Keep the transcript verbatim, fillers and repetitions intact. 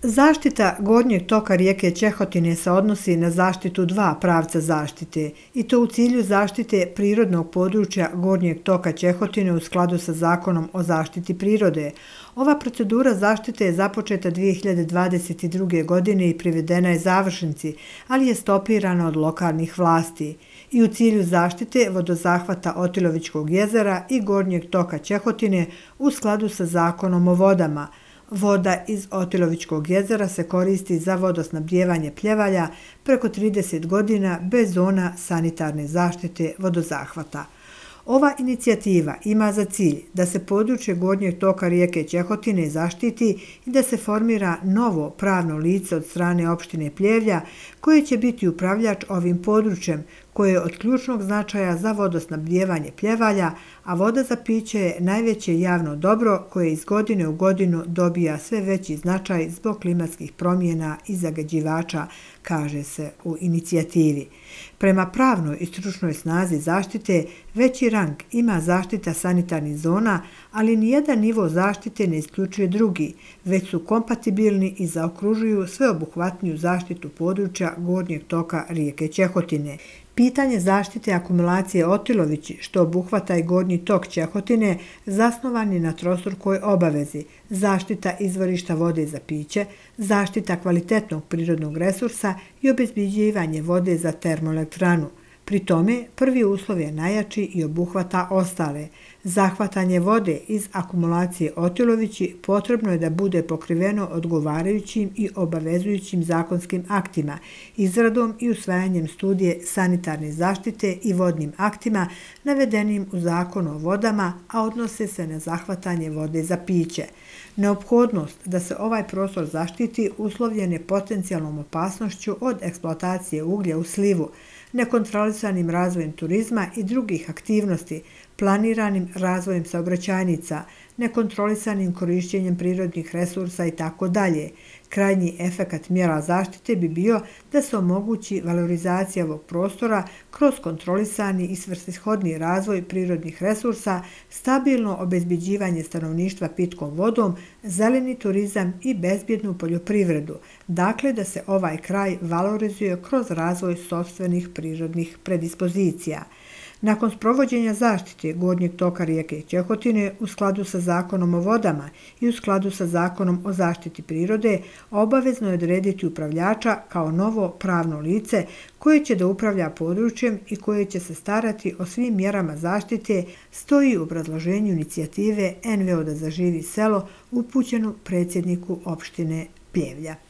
Zaštita gornjeg toka rijeke Ćehotine se odnosi na zaštitu dva pravca zaštite i to u cilju zaštite prirodnog područja gornjeg toka Ćehotine u skladu sa Zakonom o zaštiti prirode. Ova procedura zaštite je započeta dvije hiljade dvadeset druge. godine i privedena je završnici, ali je stopirana od lokalnih vlasti. I u cilju zaštite vodozahvata Otilovićkog jezera i gornjeg toka Ćehotine u skladu sa Zakonom o vodama. Voda iz Otilovićkog jezera se koristi za vodosnabdijevanje Pljevalja preko trideset godina bez zona sanitarne zaštite vodozahvata. Ova inicijativa ima za cilj da se područje gornjeg toka rijeke Ćehotine zaštiti i da se formira novo pravno lice od strane opštine Pljevlja koje će biti upravljač ovim područjem koje je od ključnog značaja za vodosnabdijevanje Pljevalja, a voda za piće je najveće javno dobro koje iz godine u godinu dobija sve veći značaj zbog klimatskih promjena i zagađivača, kaže se u inicijativi. Prema pravnoj i stručnoj snazi zaštite, veći rang ima zaštita sanitarnih zona, ali nijedan nivo zaštite ne isključuje drugi, već su kompatibilni i zaokružuju sveobuhvatniju zaštitu područja gornjeg toka rijeke Ćehotine. Pitanje zaštite akumulacije Otilovići, što obuhvata i gornji tok Ćehotine, zasnovan je na trostrukoj obavezi: zaštita izvorišta vode za piće, zaštita kvalitetnog prirodnog resursa i obezbeđivanje vode za termoelektranu. Pri tome, prvi uslov je najjači i obuhvata ostale. Zahvatanje vode iz akumulacije Otilovići potrebno je da bude pokriveno odgovarajućim i obavezujućim zakonskim aktima, izradom i usvajanjem studije sanitarne zaštite i vodnim aktima navedenim u Zakonu o vodama, a odnose se na zahvatanje vode za piće. Neophodnost da se ovaj prostor zaštiti uslovljen je potencijalnom opasnošću od eksploatacije uglja u slivu, nekontrolisanim razvojem turizma i drugih aktivnosti, planiranim razvojem saobraćajnica, nekontrolisanim korišćenjem prirodnih resursa itd. Krajnji efekat mjera zaštite bi bio da se omogući valorizacija ovog prostora kroz kontrolisani i svrsishodni razvoj prirodnih resursa, stabilno obezbeđivanje stanovništva pitkom vodom, zeleni turizam i bezbjednu poljoprivredu. Dakle, da se ovaj kraj valorizuje kroz razvoj sopstvenih prirodnih predispozicija. Nakon sprovođenja zaštite gornjeg toka rijeke Ćehotine u skladu sa Zakonom o vodama i u skladu sa Zakonom o zaštiti prirode, obavezno je odrediti upravljača kao novo pravno lice koje će da upravlja područjem i koje će se starati o svim mjerama zaštite, stoji u obrazloženju inicijative N V O da zaživi selo upućenu predsjedniku opštine Pljevlja.